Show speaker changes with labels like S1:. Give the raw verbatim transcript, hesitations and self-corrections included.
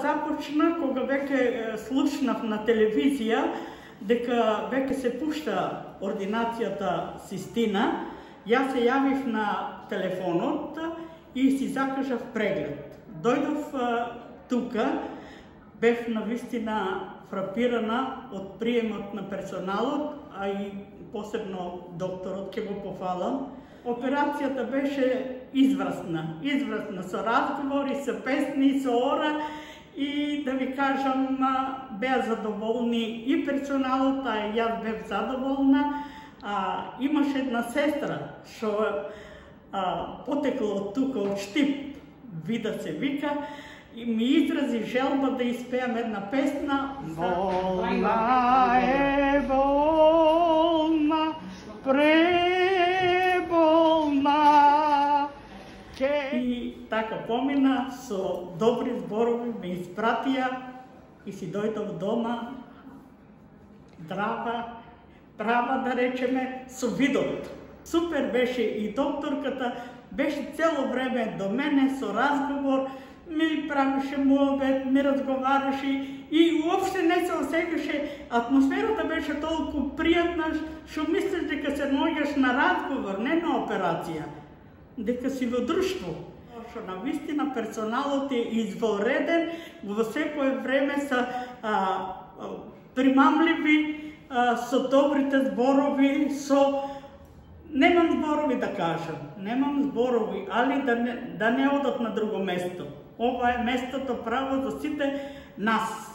S1: започна кога веќе слушнав на телевизија дека веќе се пушта ординацијата Систина. Јас се јавив на телефонот и си закажав преглед. Дојдов тука, бев навистина фрапирана од приемот на персоналот, а и посебно докторот, ќе го пофалам. Операцијата беше изврсна, изврсна со разговори, со песни, со ора и да ви кажам, беа задоволни и персоналот, а и јас бев задоволна. А, имаше една сестра што потекло од тука од Штип, Вида се вика, и ми изрази желба да испеам една песна. Болна е, болна, преболна. И така помина, со добри зборови ме испратија и си дојдов дома, здрава, права да речеме, со видот. Супер беше и докторката, беше цело време до мене со разговор, ми правеше муабет, ми разговараше и уопште не се осеќаше. Атмосферата беше толку пријатна, што мислиш дека се наоѓаш на разговор, не на операција, дека си во друштво. Што навистина персоналот е извонреден, во секое време се примамливи, со добрите зборови, со... Немам зборови да кажам, немам зборови, али да не, да не одат на друго место. Ова е местото право за сите нас.